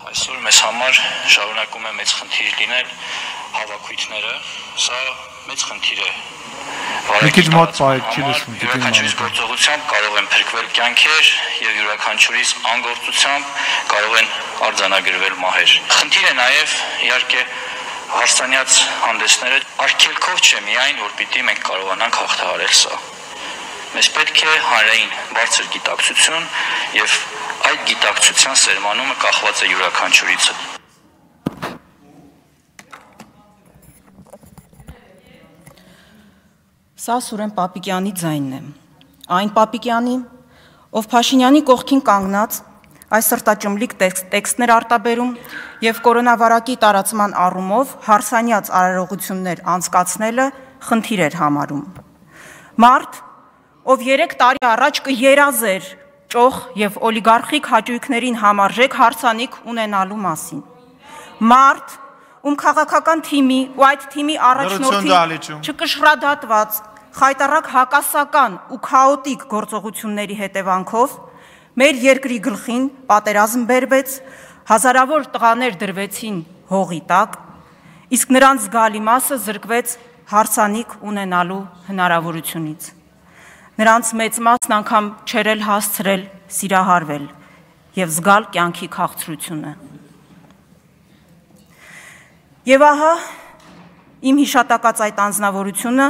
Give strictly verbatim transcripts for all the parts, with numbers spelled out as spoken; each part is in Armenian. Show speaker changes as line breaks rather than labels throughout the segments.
Այսօր մեզ համար շարունակում է մեծ խնդիր լինել հավաքույթները, սա մեծ խնդիր է։
Մի քիչ մոտ պահեք, չի լսվում,
յուրաքանչյուրիս գործողությամբ կարող են փրկվել կյանքեր եւ յուրաքանչյուրիս անգործությամբ կարող են արձանագրվել մահեր։ Խնդիր է նաեւ իհարկե հարսանյաց հանդեսները արգելքով չէ միայն, որ պիտի մենք կարողանանք հաղթահարել սա։ Մեզ պետք է հանրային բարձր գիտակցություն եւ այդ գիտակցության սերմանումը կախված է յուրաքանչյուրից։
Սա Սուրեն Պապիկյանի ձայնն է։ Այն Պապիկյանի, ով Փաշինյանի կողքին կանգնած այս սրտաճմլիկ տեքստներ արտաբերում եւ կորոնավարակի տարածման առումով հարսանյաց արարողություններ անցկացնելը խնդիր էր համարում։ Մարդ, ով երեք տարի առաջ կերազեր ճոխ եւ օլիգարխիկ հաճույքներին համարժեք հարսանիք ունենալու մասին։ Մարդ, ում քաղաքական թիմի ու այդ թիմի առաջնորդի չկշռադատված, խայտառակ հակասական ու քաոտիկ գործողությունների հետևանքով մեր երկրի գլխին պատերազմ բերվեց, հազարավոր տղաներ դրվեցին հողի տակ, իսկ նրանց զգալի մասը զրկվեց հարսանիք ունենալու հնարավորությունից։ Նրանց մեծ մասն անգամ չէր էլ հասցրել սիրահարվել եւ զգալ կյանքի քաղցրությունը։ Եվ ահա իմ հիշատակած այդ անձնավորությունը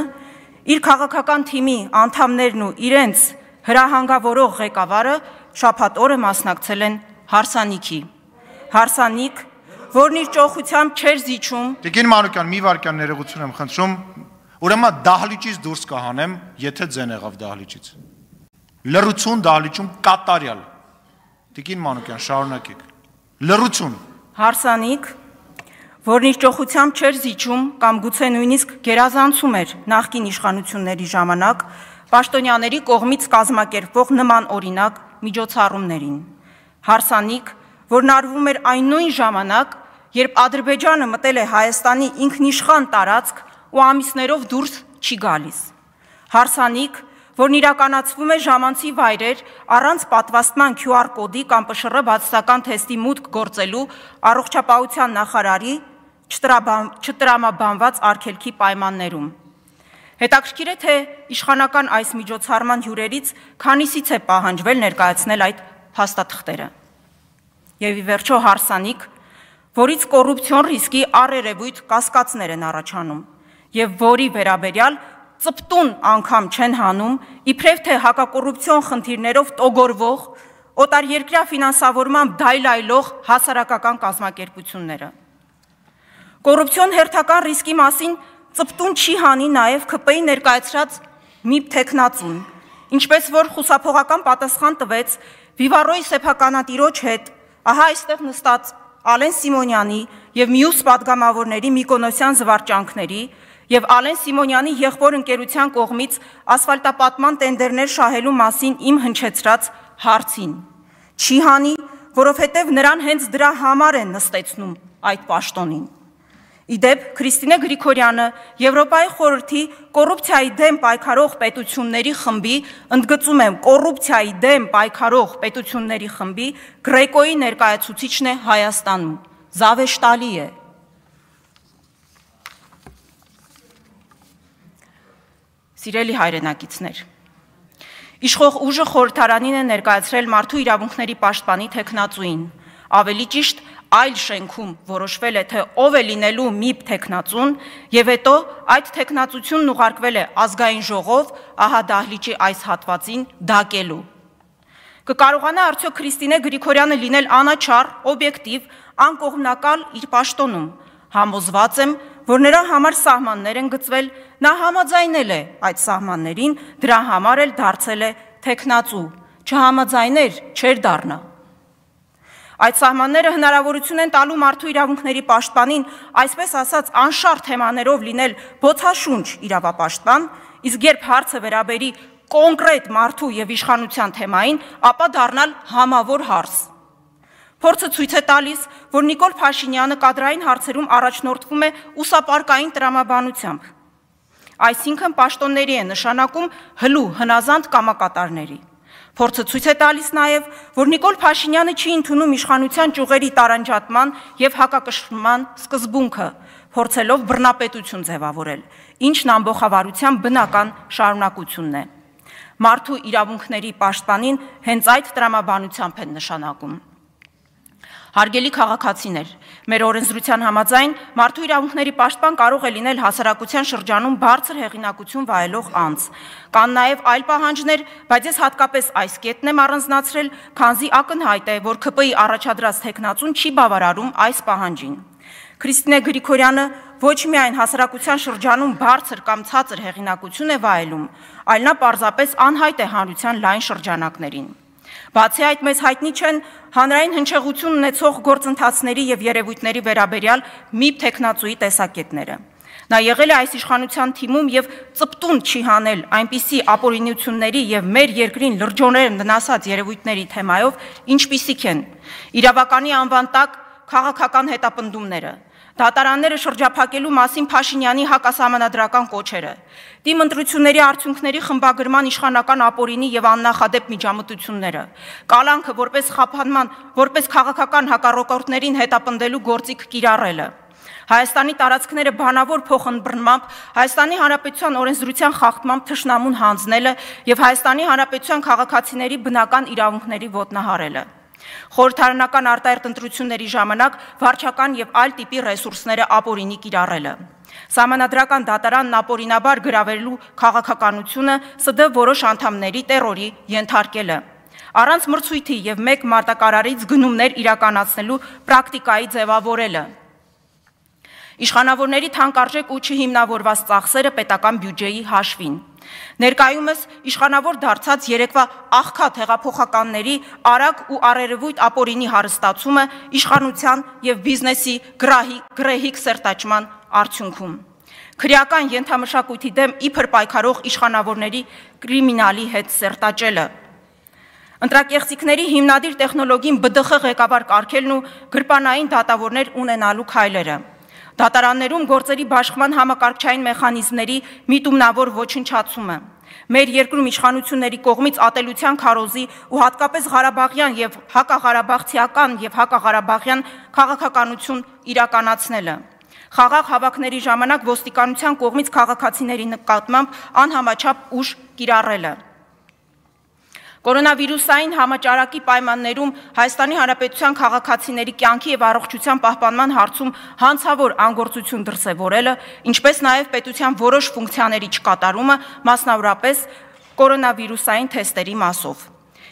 իր քաղաքական թիմի անդամներն ու իրենց հրահանգավորող ղեկավարը շաբաթ օրը մասնակցել են հարսանիքի։ Հարսանիք, որն իր ճոխությամբ չէր զիջում։
Տիկին Մանուկյան, մի վարքյան ներողություն եմ խնդրում, ուրեմն դահլիճից դուրս կհանեմ, եթե ձեն եղավ դահլիճից։ Լռություն դահլիճում կատարյալ։ Տիկին Մանուկյան, շարունակեք։ Լռություն։
Հարսանիք, որն իր ճոխությամբ չէր զիջում կամ գուցե նույնիսկ գերազանցում էր նախկին իշխանությունների ժամանակ պաշտոնյաների կողմից կազմակերպվող նման օրինակ միջոցառումներին։ Հարսանիք, որն արվում էր այն նույն ժամանակ, երբ Ադրբեջանը մտել է Հայաստանի ինքնիշխան տարածք ու ամիսներով դուրս չի գալիս։ Հարսանիք, որն իրականացվում է ժամանցի վայրեր առանց պատվաստման Q R կոդի կամ P Շ R բացասական թեստի մուտք գործելու առողջապահության նախարարի չտրամաբանված արգելքի պայմաններում։ Հետաքրքիր է, թե իշխանական այս միջոցառման հյուրերից քանիսից է պահանջվել ներկայացնել այդ փաստաթղթերը։ Եվ ի վերջո հարսանիք, որից կոռուպցիոն ռիսկի առերևույթ կասկածներ են առաջանում եւ որի վերաբերյալ ծպտուն անգամ չեն հանում, իբրև թե հակակոռուպցիոն խնդիրներով տոգորվող, օտարերկրյա ֆինանսավորմամբ դայլայլող հասարակական կազմակերպությունները։ Կոռուպցիոն հերթական ռիսկի մասին ծպտուն չի հանի նաև K P-ի ներկայացրած մի թեկնածուն, ինչպես որ խուսափողական պատասխան տվեց Վիվառոյի սեփականատիրոջ հետ, ահա այստեղ նստած Ալեն Սիմոնյանի եւ մյուս պատգամավորների Միկոնոսյան զվարճանքների եւ Ալեն Սիմոնյանի եղբոր ընկերության կողմից ասֆալտապատման տենդերներ շահելու մասին իմ հնչեցրած հարցին։ Չի հանի, որովհետեւ նրան հենց դրա համար են նստեցնում այդ պաշտոնին։ Իդեպ Քրիստինե Գրիգորյանը Եվրոպայի խորհրդի կոռուպցիայի դեմ պայքարող պետությունների խմբի, ընդգծում եմ կոռուպցիայի դեմ պայքարող պետությունների խմբի Գրեկոյի ներկայացուցիչն է Հայաստանում։ Զավեշտալի է։ Սիրելի հայրենակիցներ, իշխող ուժը խորհրդարանին է ներկայացրել մարդու իրավունքների պաշտպանի թեկնածուին, ավելի ճիշտ այլ շենքում որոշվել է, թե ով է լինելու մի թեկնածուն եւ հետո այդ թեկնածությունն ուղարկվել է ազգային ժողով, ահա դահլիճի այս հատվածին դակելու։ Կկարողանա արդյոք Քրիստինե Գրիգորյանը լինել անաչառ, օբյեկտիվ, անկողմնակալ իր պաշտոնում։ Համոզված եմ, որ նրա համար սահմաններ են գծվել, նա համաձայնել է այդ սահմաններին, դրա համար էլ դարձել է թեկնածու, չհամաձայներ չէր դառնա։ Այդ սահմանները հնարավորություն են տալու մարդու իրավունքների պաշտպանին, այսպես ասած անշարժ թեմաներով լինել բոցաշունչ իրավապաշտպան, իսկ երբ հարցը վերաբերի կոնկրետ մարդու եւ իշխանության թեմային, ապա դառնալ համավոր հարց։ Փորձը ցույց է տալիս, որ Նիկոլ Փաշինյանը կադրային հարցերում առաջնորդվում է ուսապարկային տրամաբանությամբ։ Այսինքն պաշտոնների է նշանակում հլու հնազանդ կամակատարների։ Փորձը ցույց է տալիս նաև, որ Նիկոլ Փաշինյանը չի ընդունում իշխանության ճյուղերի տարանջատման եւ հակակշռման սկզբունքը, փորձելով բռնապետություն ձևավորել, ինչն ամբողջավարության բնական շարունակությունն է։ Մարդու իրավունքների պաշտպանին հենց այդ տրամաբանությամբ են նշանակում։ Հարգելի քաղաքացիներ, մեր օրենսդրության համաձայն մարդու իրավունքների պաշտպան կարող է լինել հասարակության շրջանում բարձր հեղինակություն վայելող անձ։ Կան նաև այլ պահանջներ, բայց ես հատկապես այս կետն եմ առանձնացրել, քանզի ակնհայտ է, որ ՔՊ-ի առաջադրած թեկնածուն չի բավարարում այս պահանջին։ Քրիստինե Գրիգորյանը ոչ միայն հասարակության շրջանում բարձր կամ ցածր հեղինակություն է վայելում, այլ նա պարզապես անհայտ է հանրության լայն շրջանակներին։ Բացի այդ, մեզ հայտնի չեն հանրային հնչեղություն ունեցող գործընթացների եւ երևույթների վերաբերյալ ՄԻՊ թեկնածուի տեսակետները։ Նա եղել է այս իշխանության թիմում եւ ծպտուն չի հանել այնպիսի ապօրինությունների եւ մեր երկրին լրջորեն վնասած երևույթների թեմայով, ինչպիսիք են իրավականի անվան տակ քաղաքական հետապնդումները, դատարանները շրջափակելու մասին Փաշինյանի հակասահմանադրական կոչերը, դիմ ընտրությունների արդյունքների խմբագրման իշխանական ապօրինի եւ աննախադեպ միջամտությունները, կալանքը որպես խափանման, որպես քաղաքական հակառակորդներին հետապնդելու գործիք կիրառելը, Հայաստանի տարածքները բանավոր փոխըմբռնմամբ, Հայաստանի Հանրապետության օրենսդրության խախտմամբ թշնամուն հանձնելը եւ Հայաստանի Հանրապետության քաղաքացիների բնական իրավունքների ոտնահարելը։ Խորհրդարանական արտահերթ ընտրությունների ժամանակ վարչական եւ այլ տիպի ռեսուրսները ապօրինի կիրառելը։ Սահմանադրական դատարանն ապօրինաբար գրավելու քաղաքականությունը ՍԴ որոշ անդամների տերորի ենթարկելը։ Առանց մրցույթի եւ մեկ մարտակարարից գնումներ իրականացնելու պրակտիկայի ձևավորելը։ Իշխանավորների թանկարժեք ու չհիմնավորված ծախսերը պետական բյուջեի հաշվին։ Ներկայումս իշխանավոր դարձած երեկվա աղքատ հեղափոխականների արագ ու առերևույթ ապօրինի հարստացումը իշխանության եւ բիզնեսի գրեհիկ սերտաճման արդյունքում։ Քրեական ենթամշակույթի դեմ իբր պայքարող իշխանավորների կրիմինալի հետ սերտաճելը։ Ընտրակեղծիքների հիմնադիր տեխնոլոգին ԲԴԽ ղեկավար կարգելն ու գրպանային դատավորներ ունենալու քայլերը։ Դատարաններում գործերի բաշխման համակարգչային մեխանիզմների միտումնավոր ոչնչացումը, մեր երկրում իշխանությունների կողմից ատելության քարոզի ու հատկապես Ղարաբաղյան եւ հակաղարաբաղցիական եւ հակաղարաբաղյան քաղաքականություն իրականացնելը, խաղաղ հավաքների ժամանակ ոստիկանության կողմից քաղաքացիների նկատմամբ անհամաչափ ուժ կիրառելը։ Կորոնավիրուսային համաճարակի պայմաններում Հայաստանի Հանրապետության քաղաքացիների կյանքի եւ առողջության պահպանման հարցում հանցավոր անգործություն դրսեւորելը, ինչպես նաեւ պետության որոշ ֆունկցիաների չկատարումը, մասնավորապես կորոնավիրուսային թեստերի մասով։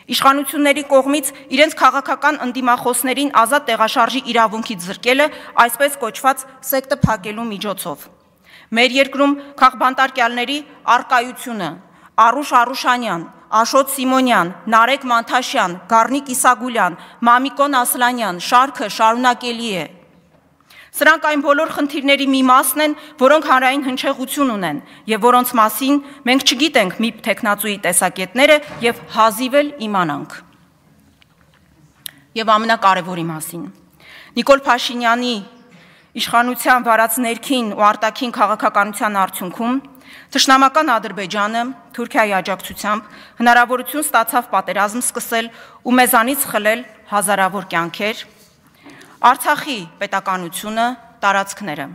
Իշխանությունների կողմից իրենց քաղաքական ընդդիմախոսներին ազատ տեղաշարժի իրավունքից զրկելը, այսպես կոչված սեկտը փակելու միջոցով։ Մեր երկրում քաղբանտարկյալների առկայությունը Արուշ Արուշանյան, Աշոտ Սիմոնյան, Նարեկ Մանթաշյան, Գառնիկ Իսագուլյան, Մամիկոն Ասլանյան, շարքը շարունակելի է։ Սրանք այն բոլոր խնդիրների մի մասն են, որոնք հանրային հնչեղություն ունեն եւ որոնց մասին մենք չգիտենք ՄԻՊ թեկնածուի տեսակետները եւ հազիվ էլ իմանանք։ Եվ ամենակարևորի մասին։ Նիկոլ Փաշինյանի իշխանության վարած ներքին ու արտաքին քաղաքականության արդյունքում Թշնամական Ադրբեջանը Թուրքիայի աջակցությամբ հնարավորություն ստացավ պատերազմ սկսել ու մեզանից խլել հազարավոր կյանքեր, Արցախի պետականությունը, տարածքները։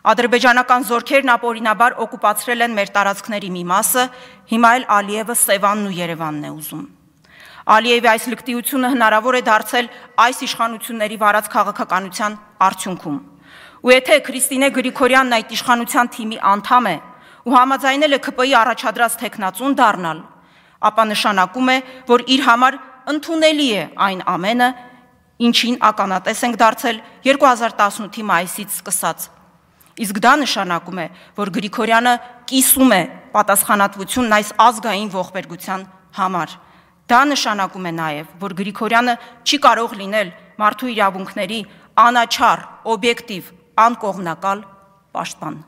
Ադրբեջանական զորքերն ապօրինաբար օկուպացրել են մեր տարածքների մի մասը, հիմա էլ Ալիևը Սևանն ու Երևանն է ուզում։ Ալիևի այս լկտիությունը հնարավոր է դարձել այս իշխանությունների վարած քաղաքականության արդյունքում։ Ու եթե Քրիստինե Գրիգորյանն այդ իշխանության թիմի անդամ է ու համաձայնել է ՔՊ-ի առաջադրած թեկնածուն դառնալ, ապա նշանակում է, որ իր համար ընդունելի է այն ամենը, ինչին ականատես ենք դարձել երկու հազար տասնութի մայիսից սկսած։ Իսկ դա նշանակում է, որ Գրիգորյանը կիսում է պատասխանատվությունն այս ազգային ողբերգության համար։ Դա նշանակում է նաև, որ Գրիգորյանը չի կարող լինել մարդու իրավունքների անաչառ, օբյեկտիվ, անկողմնակալ պաշտպան։